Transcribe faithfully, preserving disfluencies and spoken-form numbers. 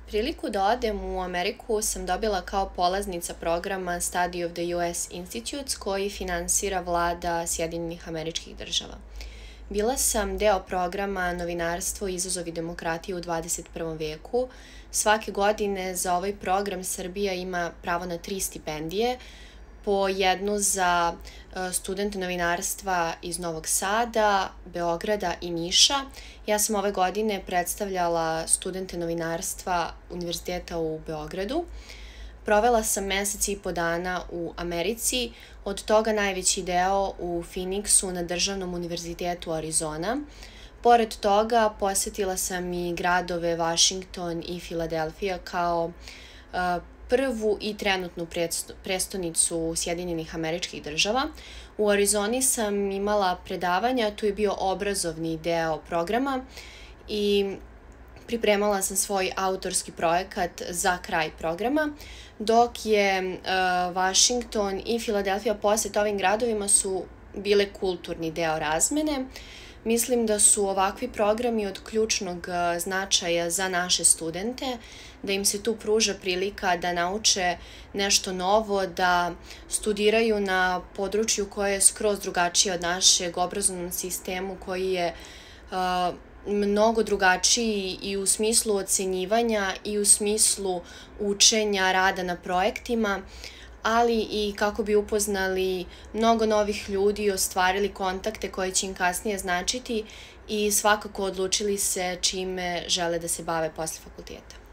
Priliku da odem u Ameriku sam dobila kao polaznica programa Study of the U S Institutes koji finansira vlada Sjedinjenih Američkih Država. Bila sam deo programa Novinarstvo i izazovi demokratije u dvadeset prvom veku. Svake godine za ovaj program Srbija ima pravo na tri stipendije, po jednu za studente novinarstva iz Novog Sada, Beograda i Niša. Ja sam ove godine predstavljala studente novinarstva Univerziteta u Beogradu. Provela sam mesec i po dana u Americi, od toga najveći deo u Phoenixu na Državnom univerzitetu Arizona. Pored toga, posetila sam i gradove Washington i Filadelfija kao uh, prvu i trenutnu prestonicu Sjedinjenih Američkih Država. U Arizoni sam imala predavanja, tu je bio obrazovni deo programa i pripremala sam svoj autorski projekat za kraj programa, dok je uh, Washington i Filadelfija posete ovim gradovima su bile kulturni deo razmene. Mislim da su ovakvi programi od ključnog značaja za naše studente, da im se tu pruža prilika da nauče nešto novo, da studiraju na području koje je skroz drugačije od našeg obrazovnog sistemu, koji je uh, mnogo drugačiji i u smislu ocenjivanja i u smislu učenja, rada na projektima, ali i kako bi upoznali mnogo novih ljudi i ostvarili kontakte koje će im kasnije značiti i svakako odlučili se čime žele da se bave posle fakulteta.